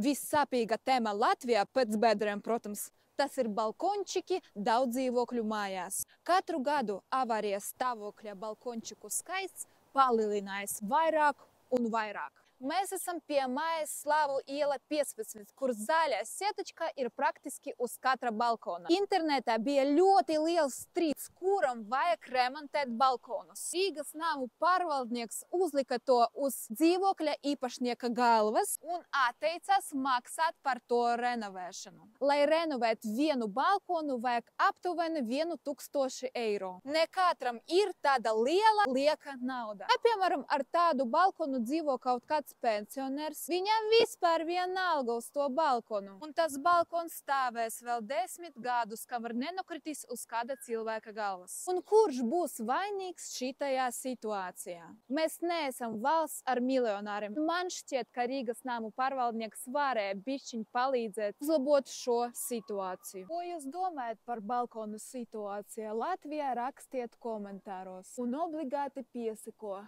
Vissāpīga tēma Latvijā pēc bedriem, protams, tas ir balkončiki daudz dzīvokļu mājās. Katru gadu avārijas stāvokļa balkončiku skaits palielinājās vairāk un vairāk. Mēs esam pie mājas Slāvu iela 15, kur zaļā sietečka ir praktiski uz katra balkona. Internetā bija ļoti liels strīds, kuram vajag remontēt balkonus. Rīgas namu pārvaldnieks uzlika to uz dzīvokļa īpašnieka galvas un atteicās maksāt par to renovēšanu. Lai renovētu vienu balkonu, vajag aptuveni 1000 eiro. Ne katram ir tāda lieka nauda. Piemēram, ar tādu balkonu dzīvo kaut kāds pensionērs, viņam vispār vienalga uz to balkonu. Un tas balkons stāvēs vēl 10 gadus, kamēr nenokritīs uz kāda cilvēka galvas. Un kurš būs vainīgs šitajā situācijā? Mēs neesam valsts ar miljonāriem. Man šķiet, ka Rīgas namu pārvaldnieks varēja bišķiņ palīdzēt uzlabot šo situāciju. Ko jūs domājat par balkonu situāciju Latvijā? Rakstiet komentāros un obligāti piesako